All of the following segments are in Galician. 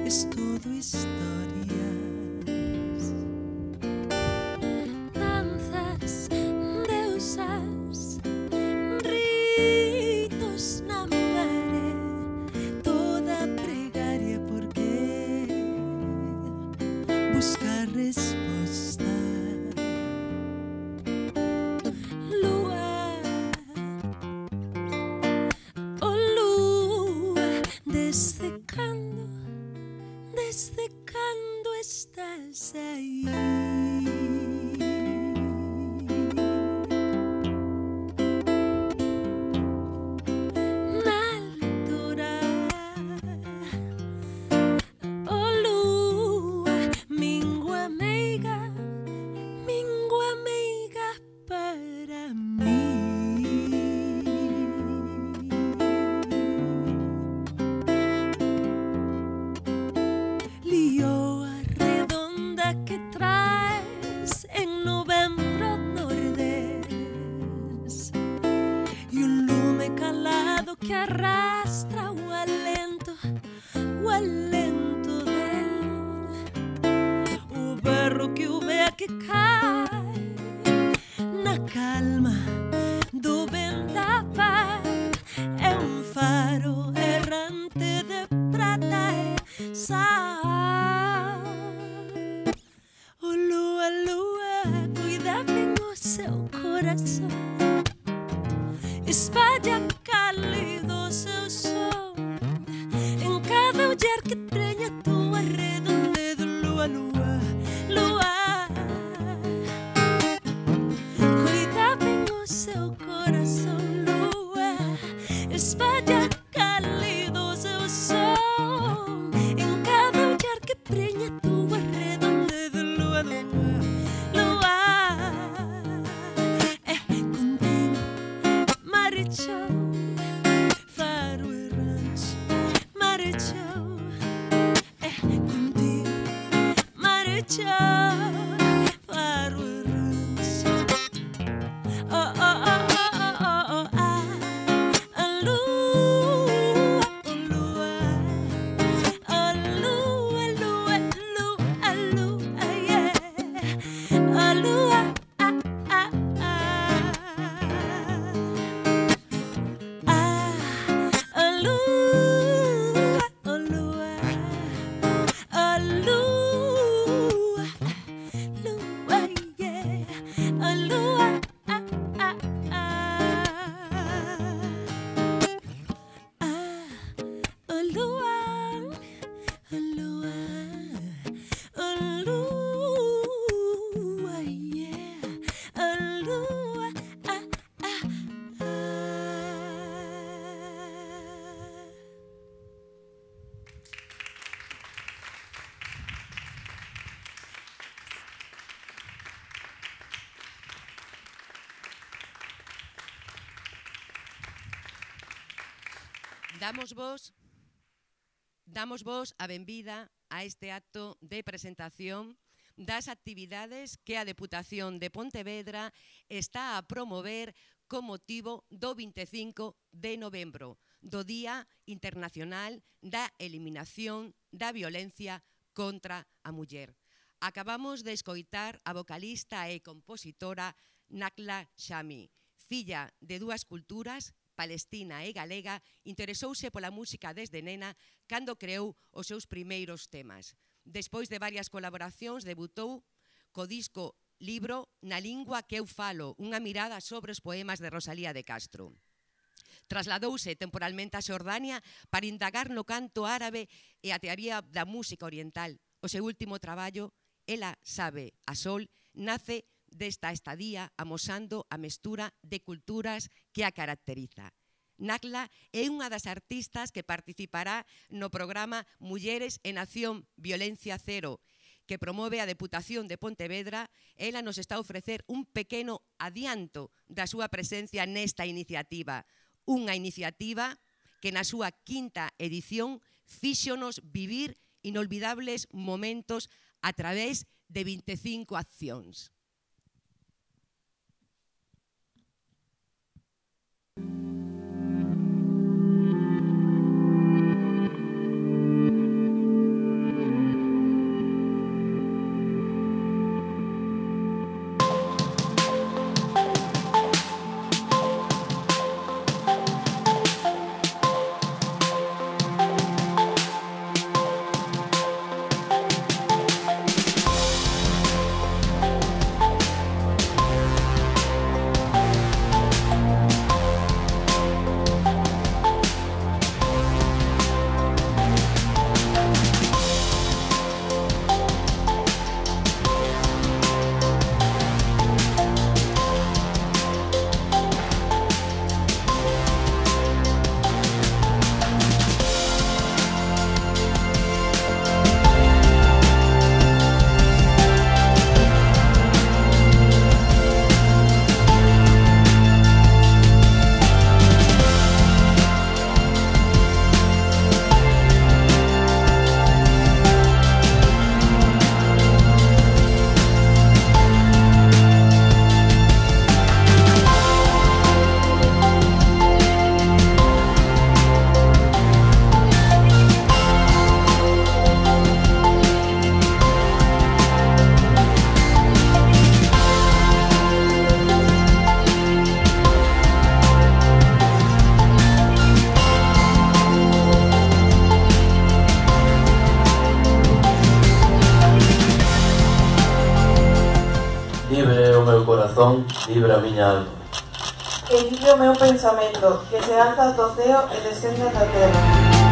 es todo historias. Danzas, deusas, ritos na pared, toda pregaria porque buscar resposta. Lua, oh lua, desde cando estás aí? Na altura, oh lua, mingua meiga para mí. Lioa redonda que traes en novembro nordés y un lume calado que arrastra o alento del o berro que o vea que cae na calma do vendaval. É um faro errante de prata e sal. Oh lua, lua, cuida bem o seu coração, espalha cálido o seu som em cada olhar que prenha tua redondeza. Lua, lua, lua, cuida bem o seu coração. Lua, espalha cálido o seu som em cada olhar que prenha tua redondeza. Lua, lua, lua, é contigo, marechou, faro errante, marechou, é contigo, marechou, faro errante. Oh, oh, oh, oh, oh, oh, oh, ah, a lua, oh lua, oh lua, lua, lua, lua, yeah, a lua, ah, ah, ah, ah, a lua, oh lua, a lua, lua, yeah, a lua, ah, ah, ah, ah, a lua, a lua, a lua, yeah, a lua, ah, ah, ah. Damos vos a benvida a este acto de presentación das actividades que a Deputación de Pontevedra está a promover con motivo do 25 de novembro, do Día Internacional da Eliminación da Violencia contra a Muller. Acabamos de escoitar a vocalista e compositora Nakla Shami, filla de dúas culturas, palestina e galega, interesouse pola música desde nena cando creou os seus primeiros temas. Despois de varias colaboracións, debutou co disco Libro na lingua que eu falo, unha mirada sobre os poemas de Rosalía de Castro. Trasladouse temporalmente a Xordania para indagar no canto árabe e a teoría da música oriental. O seu último traballo, Ela sabe a sol, nace desta estadía amosando a mestura de culturas que a caracteriza. Nakla é unha das artistas que participará no programa Mulleres en Acción Violencia Cero, que promove a Deputación de Pontevedra. Ela nos está a ofrecer un pequeno adianto da súa presencia nesta iniciativa. Unha iniciativa que na súa quinta edición fíxonos vivir inolvidables momentos a través de 25 accións. corazón vibra a miña alma. E vive o meu pensamento, que se alza do ceo e descende da terra.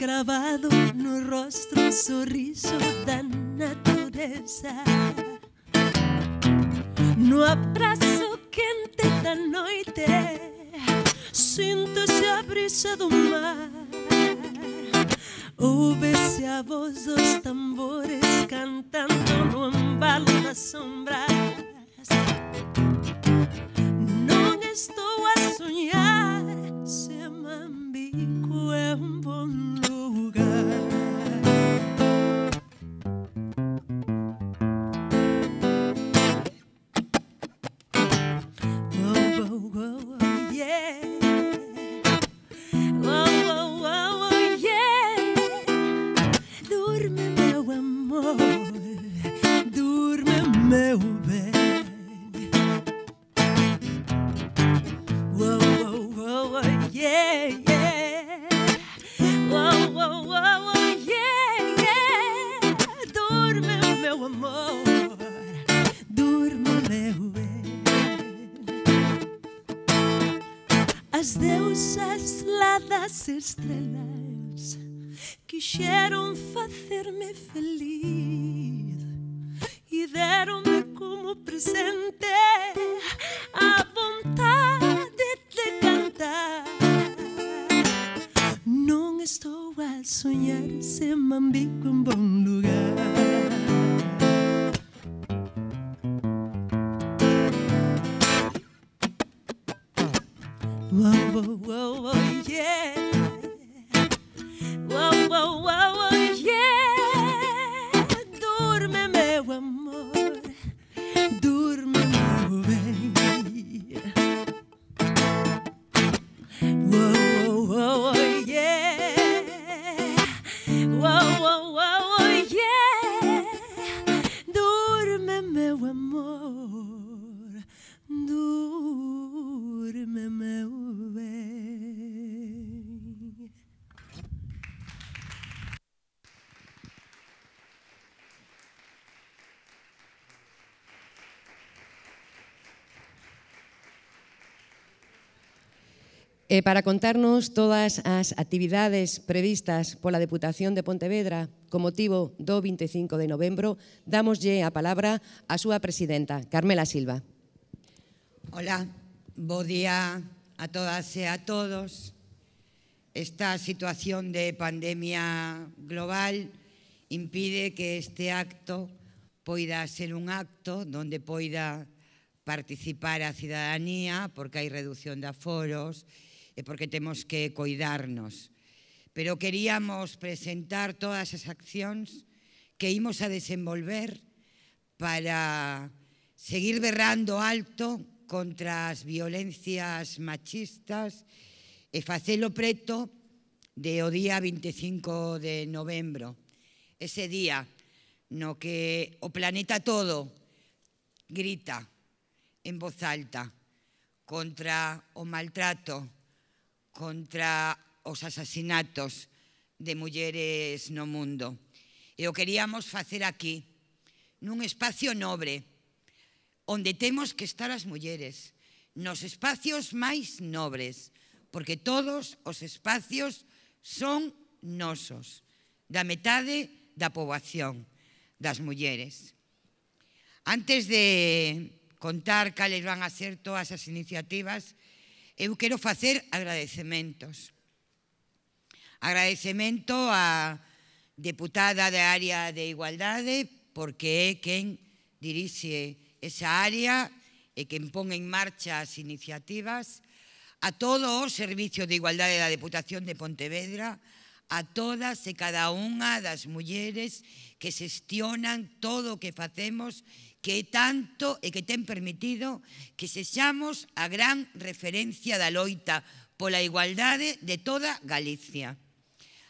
gravado no rostro o sorriso da natureza. No abraço quente da noite sinto-se a brisa do mar. Ouve-se a voz dos tambores cantando no embalo das sombras. Não estou a sonhar, Semambico é bom lugar. Oh, oh, oh, yeah. luzes lá das estrelas quixeron facerme feliz e deronme como presente a vontade de cantar. Non estou a soñar, se mambico en bon lugar. Whoa, whoa, whoa, whoa, yeah. Whoa, whoa, whoa, whoa, yeah. Durme, meu amor, durme, meu bem. Whoa, whoa, whoa, whoa, yeah. Whoa, whoa, whoa, whoa, yeah. Durme, meu amor, durme, meu bem. E para contarnos todas as actividades previstas pola Deputación de Pontevedra con motivo do 25 de novembro, dámoslle a palabra á súa presidenta, Carmela Silva. Hola, bo día a todas e a todos. Esta situación de pandemia global impide que este acto poida ser un acto donde poida participar a cidadanía, porque hai reducción de aforos e porque temos que coidarnos. Pero queríamos presentar todas as accións que imos a desenvolver para seguir berrando alto contra as violencias machistas e facelo preto de o día 25 de novembro. Ese día no que o planeta todo grita en voz alta contra o maltrato, contra os asasinatos de mulleres no mundo. E o queríamos facer aquí, nun espacio nobre, onde temos que estar as mulleres, nos espacios máis nobres, porque todos os espacios son nosos, da metade da poboación, das mulleres. Antes de contar cales van a ser todas as iniciativas, eu quero facer agradecementos. Agradecemento á deputada da área de igualdade, porque é quen dirixe esa área e quen pon en marcha as iniciativas, a todo o Servicio de Igualdade da Deputación de Pontevedra, a todas e cada unha das mulleres que xestionan todo o que facemos, que é tanto e que ten permitido que sexamos a gran referencia da loita pola igualdade de toda Galicia.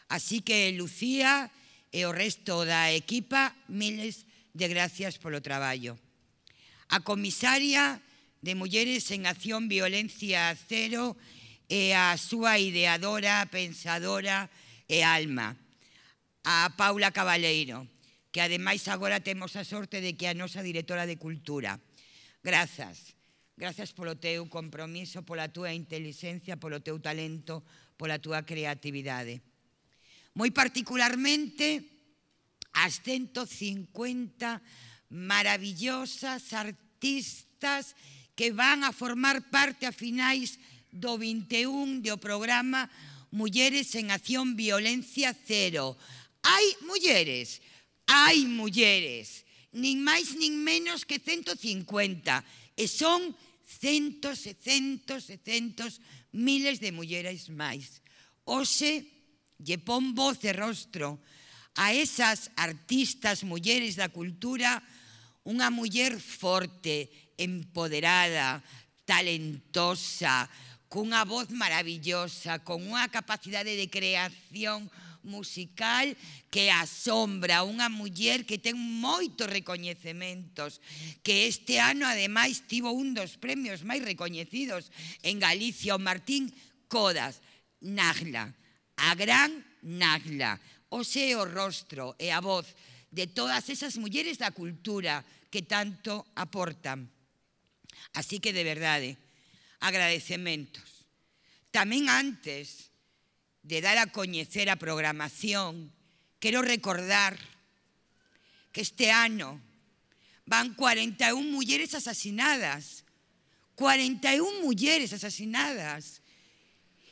Así que, Lucía e o resto da equipa, miles de gracias polo traballo. A comisaria de Mulleres en Acción Violencia Cero e a súa ideadora, pensadora e alma, a Paula Cabaleiro, que ademais agora temos a sorte de que a nosa directora de Cultura. Grazas. Grazas polo teu compromiso, pola túa inteligencia, polo teu talento, pola túa creatividade. Moi particularmente as 150 maravillosas artistas que van a formar parte a finais do 21 do programa Mulleres en Acción Violencia Cero. Hai mulleres, nin máis nin menos que 150, e son centos e centos e centos, miles de mulleres máis. Hoxe lle pon voz e rostro a esas artistas mulleres da cultura, unha muller forte, empoderada, talentosa, cunha voz maravillosa, con unha capacidade de creación musical que asombra, unha muller que ten moitos recoñecementos, que este ano ademais tivo un dos premios máis recoñecidos en Galicia, o Martín Codas, Nagla, a gran Nagla. Hoxe o rostro e a voz de todas esas mulleres da cultura que tanto aportan. Así que, de verdade, agradecementos. Tamén antes de dar a coñecer a programación, quero recordar que este ano van 41 mulleres asasinadas. 41 mulleres asasinadas.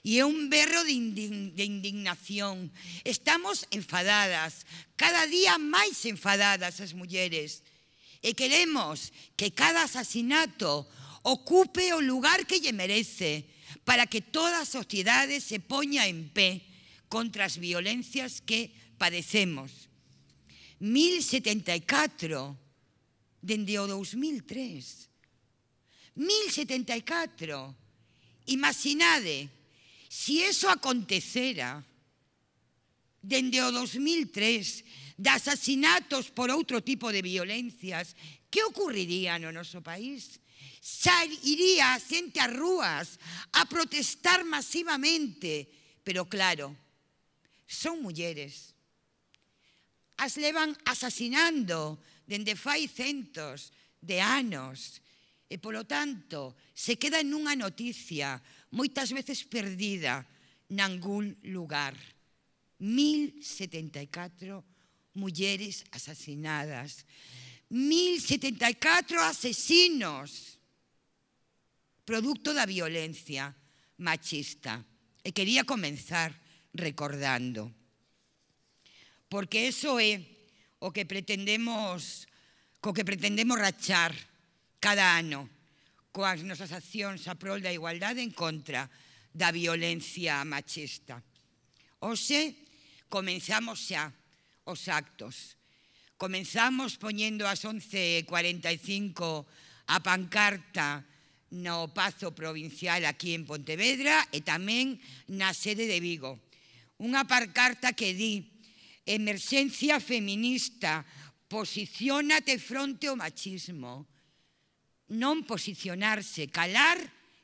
E é un berro de indignación. Estamos enfadadas, cada día máis enfadadas as mulleres. E queremos que cada asasinato ocupe o lugar que lle merece, para que toda a sociedade se poña en pé contra as violencias que padecemos. 1074 dende o 2003. 1074. Imaginade, se iso acontecera dende o 2003, de asasinatos por outro tipo de violencias, que ocurriría no noso país? Xa iría a xente ás rúas a protestar masivamente. Pero claro, son mulleres. As levan asasinando dende fai centos de anos. E, polo tanto, se queda nunha noticia moitas veces perdida nangún lugar. 1074 mulleres asasinadas. 1074 asesinos producto da violencia machista. E quería comenzar recordando, porque eso é o que pretendemos rachar cada ano coas nosas accións a prol da igualdade en contra da violencia machista. Hoxe comenzamos xa os actos. Comenzamos poñendo ás 11:45 a pancarta no Pazo Provincial aquí en Pontevedra e tamén na sede de Vigo. Unha pancarta que di: emerxencia feminista, posiciónate fronte ao machismo. Non posicionarse, calar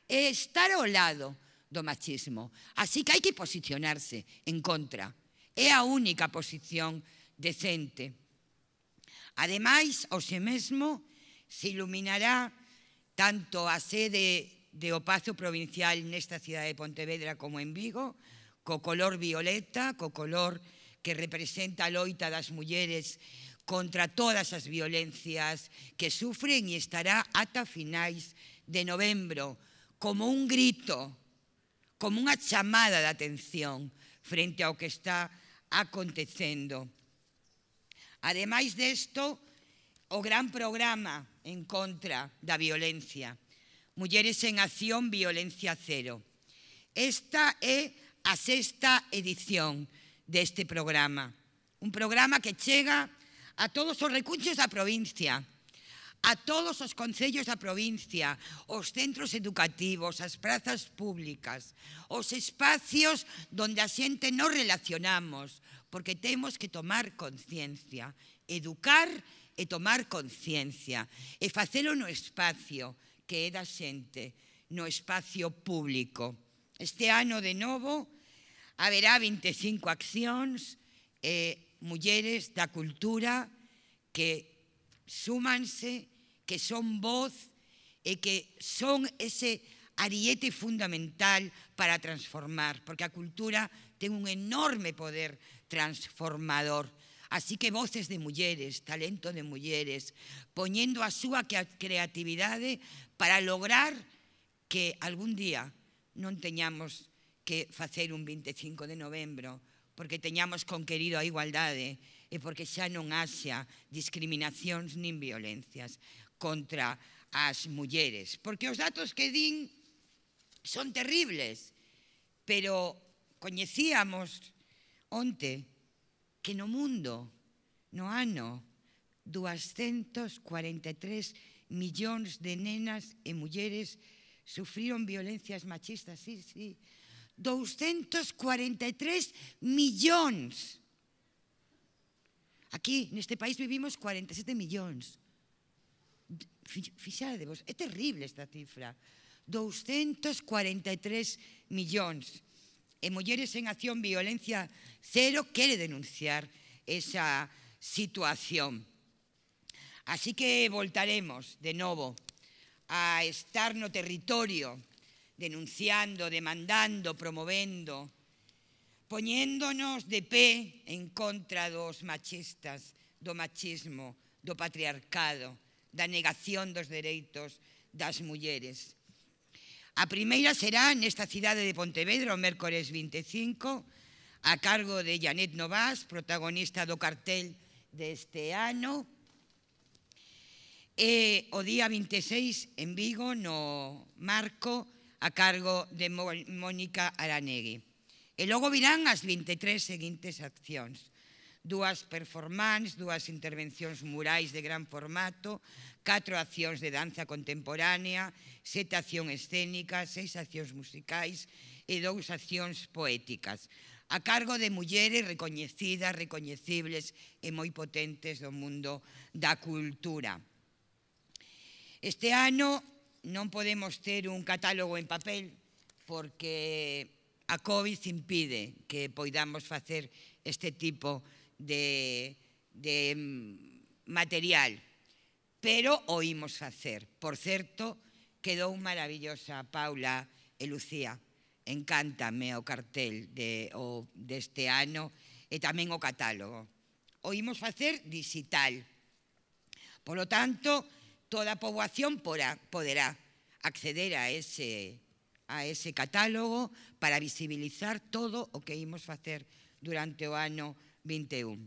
e estar ao lado do machismo. Así que hai que posicionarse en contra. É a única posición decente. Ademais, hoxe mesmo se iluminará tanto a sede do Pazo Provincial nesta cidade de Pontevedra como en Vigo, co color violeta, co color que representa a loita das mulleres contra todas as violencias que sufren, e estará ata finais de novembro como un grito, como unha chamada de atención frente ao que está acontecendo. Ademais desto, o gran programa en contra da violencia, Mulleres en Acción, Violencia Cero. Esta é a 6ª edición deste programa. Un programa que chega a todos os recunchos da provincia, a todos os concellos da provincia, os centros educativos, as prazas públicas, os espacios onde a xente nos relacionamos, porque temos que tomar conciencia, educar e tomar conciencia e facelo no espacio que é da xente, no espacio público. Este ano, de novo, haberá 25 accións e mulleres da cultura que súmanse, que son voz e que son ese ariete fundamental para transformar, porque a cultura ten un enorme poder transformador. Así que voces de mulleres, talento de mulleres, poñendo a súa creatividade para lograr que algún día non teñamos que facer un 25 de novembro, porque teñamos conquerido a igualdade e porque xa non haxa discriminacións nin violencias contra as mulleres. Porque os datos que din son terribles, pero coñecíamos onte que no mundo, no ano, 243 millóns de nenas e mulleres sufriron violencias machistas. Sí, sí, 243 millóns. Aquí, neste país, vivimos 47 millóns. Fixadevos, é terrible esta cifra. 243 millóns. E Mulleres en Acción, Violencia Cero quere denunciar esa situación. Así que voltaremos de novo a estar no territorio denunciando, demandando, promovendo, poñéndonos de pé en contra dos machistas, do machismo, do patriarcado, da negación dos dereitos das mulleres. A primeira será nesta cidade de Pontevedra o mércores 25, a cargo de Janet Novas, protagonista do cartel deste ano, e o día 26 en Vigo, no Marco, a cargo de Mónica Aranegui. E logo virán as 23 seguintes accións. 2 performances, 2 intervencións murais de gran formato, 4 accións de danza contemporánea, 7 accións escénicas, 6 accións musicais e 2 accións poéticas, a cargo de mulleres recoñecidas, recoñecibles e moi potentes do mundo da cultura. Este ano non podemos ter un catálogo en papel porque a COVID impide que poidamos facer este tipo de material, pero o imos facer. Por certo, quedou maravillosa Paula e Lucía. Encántame o cartel deste ano e tamén o catálogo. O imos facer digital. Polo tanto, toda a poboación poderá acceder a ese catálogo para visibilizar todo o que imos facer durante o ano 21.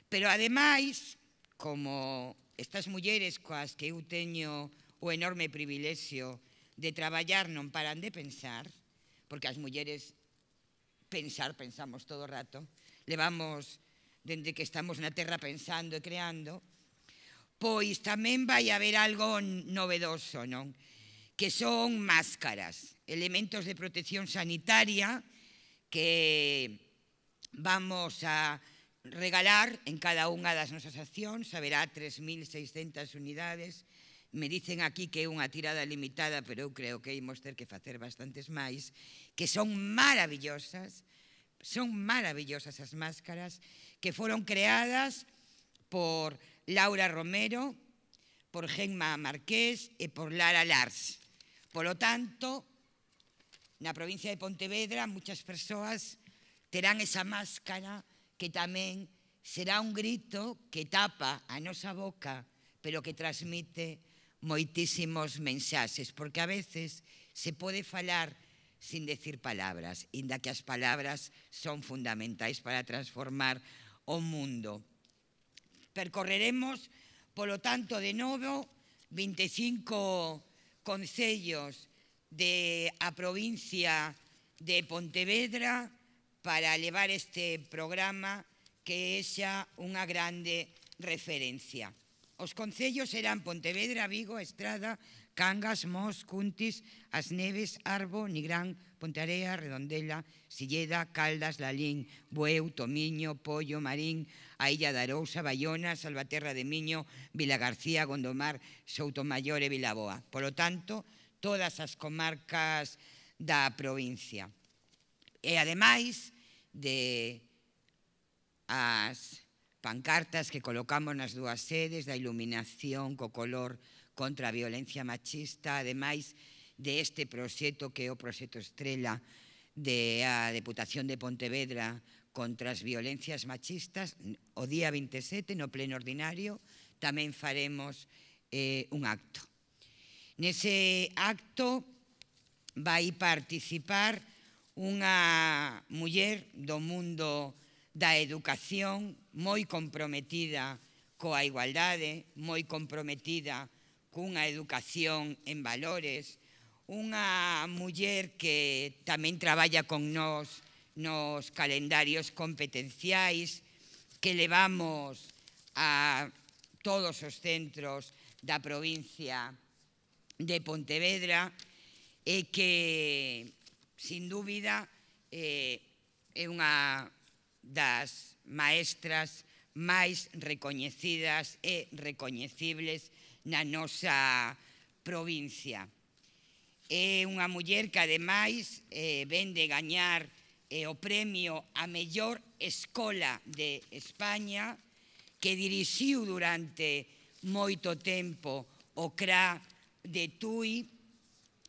Pero, ademais, como estas mulleres coas que eu teño o enorme privilexio de traballar non paran de pensar, porque as mulleres pensamos todo o rato, levamos, dende que estamos na terra pensando e creando, pois tamén vai haber algo novedoso, non? Que son máscaras, elementos de protección sanitaria que vamos a regalar en cada unha das nosas accións. Haberá 3.600 unidades. Me dicen aquí que é unha tirada limitada, pero eu creo que imos ter que facer bastantes máis, que son maravillosas as máscaras que foron creadas por Laura Romero, por Gemma Marqués e por Lara Lars. Polo tanto, na provincia de Pontevedra, muchas persoas terán esa máscara que tamén será un grito que tapa a nosa boca, pero que transmite moitísimos mensaxes, porque a veces se pode falar sin decir palabras, inda que as palabras son fundamentais para transformar o mundo. Percorreremos, polo tanto, de novo, 25 concellos da provincia de Pontevedra para levar este programa que é xa unha grande referencia. Os concellos serán Pontevedra, Vigo, Estrada, Cangas, Mos, Cuntis, As Neves, Arbo, Nigrán, Pontearea, Redondela, Silleda, Caldas, Lalín, Bueu, Tomiño, Pollo, Marín, a Illa de Arousa, Baiona, Salvaterra de Miño, Vilagarcía, Gondomar, Soutomayor e Vilaboa. Polo tanto, todas as comarcas da provincia. E, ademais de as pancartas que colocamos nas 2 sedes, da iluminación co color contra a violencia machista, ademais deste proxecto que é o proxecto Estrela da Deputación de Pontevedra contra as violencias machistas, o día 27, no pleno ordinario, tamén faremos un acto. Nese acto vai participar unha muller do mundo da educación moi comprometida coa igualdade, moi comprometida cunha educación en valores, unha muller que tamén traballa con nós nos calendarios competenciais que levamos a todos os centros da provincia de Pontevedra e que, sin dúbida, é unha das maestras máis recoñecidas e recoñecibles na nosa provincia. É unha muller que, ademais, ven de gañar o premio a mellor escola de España, que dirixiu durante moito tempo o CRA de Tui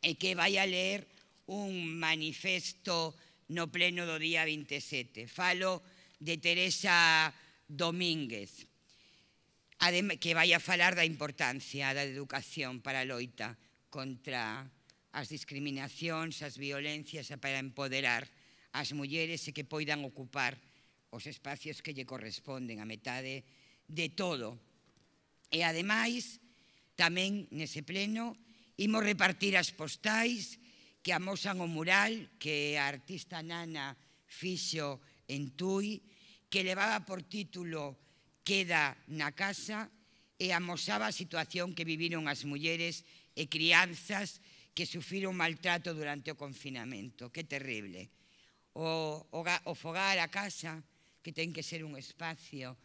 e que vai a ler un manifesto no pleno do día 27. Falo de Teresa Domínguez, que vai a falar da importancia da educación para a loita contra as discriminacións, as violencias e para empoderar as mulleres e que poidan ocupar os espacios que lle corresponden, a metade de todo. E ademais, tamén nese pleno, imos repartir as postais que amosan o mural que a artista Nana fixo en Tui, que levaba por título Queda na casa e amosaba a situación que viviron as mulleres e crianzas que sufriron maltrato durante o confinamento. Que terrible. O fogar, a casa, que ten que ser un espacio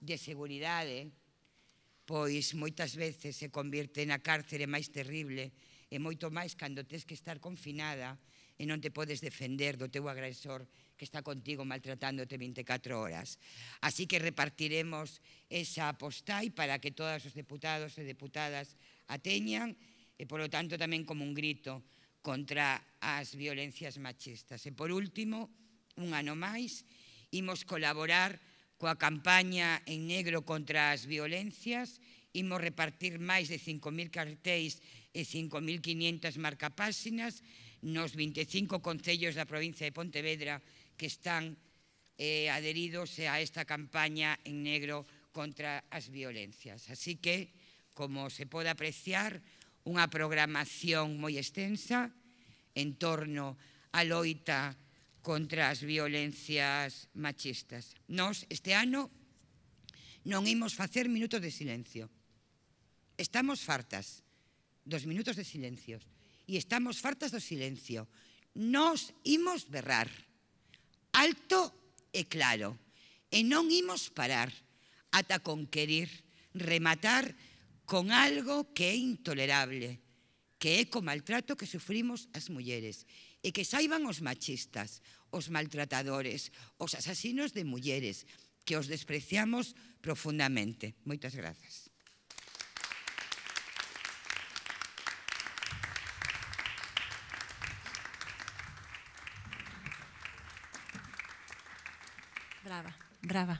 de seguridade, pois moitas veces se convierte na cárcere máis terrible e moito máis cando tes que estar confinada e non te podes defender do teu agresor que está contigo maltratándote 24 horas. Así que repartiremos esa postai para que todos os deputados e deputadas a teñan e, polo tanto, tamén como un grito contra as violencias machistas. E, por último, un ano máis, imos colaborar coa campaña en negro contra as violencias, imos repartir máis de 5.000 cartéis e 5.500 marcapáxinas nos 25 concellos da provincia de Pontevedra que están adheridos a esta campaña en negro contra as violencias. Así que, como se pode apreciar, unha programación moi extensa en torno á loita contra as violencias machistas. Nós, este ano, non imos facer minutos de silencio. Estamos fartas dos minutos de silencio e estamos fartas do silencio. Nós imos berrar alto e claro e non imos parar ata conquerir, rematar con algo que é intolerable, que é co maltrato que sufrimos as mulleres e que saiban os machistas, os maltratadores, os asasinos de mulleres, que os despreciamos profundamente. Moitas grazas. Brava, brava.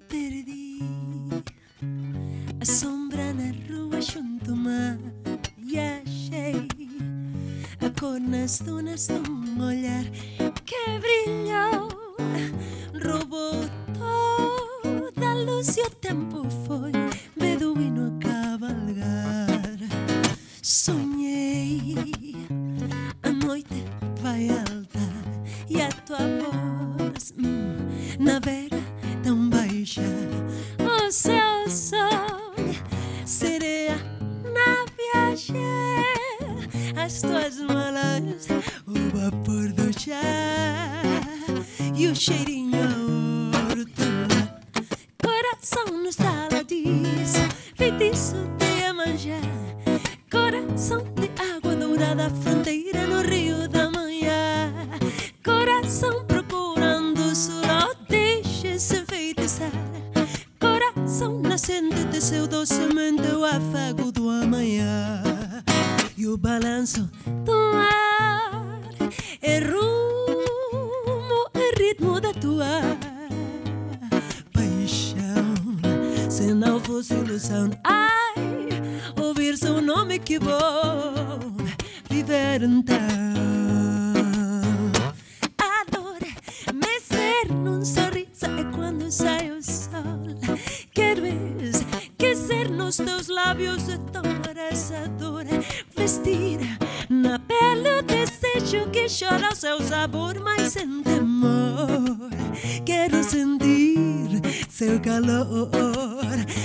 Perdi a sombra na rua junto ao mar e achei a cor nas dunas de um olhar que brilhou, roubou toda a luz e o tempo foi beduíno a cavalgar. Sonhei, a noite vai alta e a tua voz navega tão baixa. O seu sol sereia na viagem, as tuas malas, o vapor do chá e o cheirinho a hortelã. Coração no sala diz, feitiço de Iemanjá. Coração de água dourada, fronteira no rio da manhã. Coração procurando sol, deixa-se enfeitiçar. Coração nascente de seu docemente o afago do amanhã. E o balanço do ar é rumo, é ritmo da tua paixão. Se não fosse ilusão, ai, ouvir seu nome, que bom viver então. A dor mecer num sorriso é quando sai o sol. Quero esquecer nos teus lábios de tão abraçador. Vestir na pele o desejo que chora o seu sabor, mas sem temor. Quero sentir seu calor,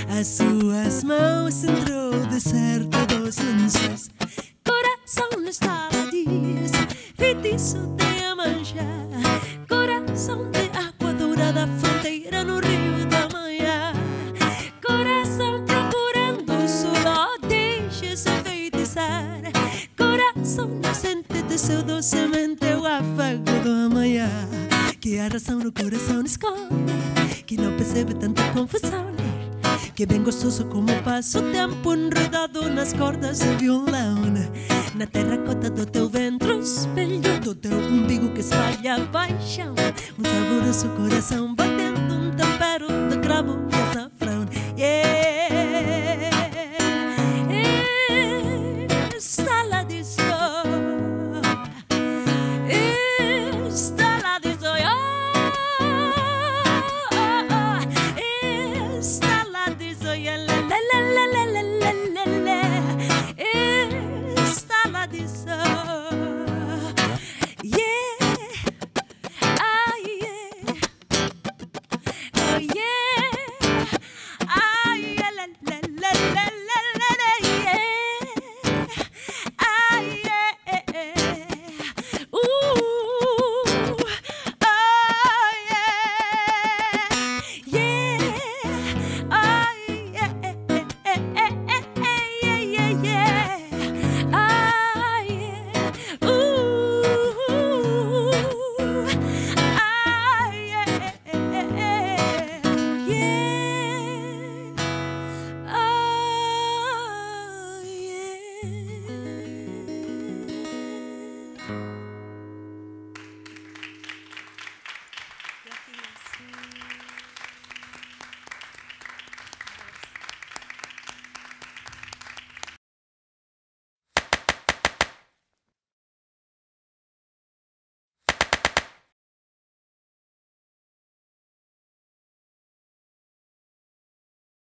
as suas mãos entre o deserto dos lençóis. Coração no estala diz, feitiço de Iemanjá. Coração de água dourada, fronteira no rio da manhã. Coração procurando o sol, deixa-se enfeitiçar. Coração nascente de seu docemente o afago do amanhã. Que a razão no coração esconde, que não percebe tanta confusão. que bem gostoso como passa o tempo enredado nas cordas de violão. Na terracota do teu ventre, o espelho do teu umbigo que espalha paixão. Um saboroso coração batendo, um tempero de cravo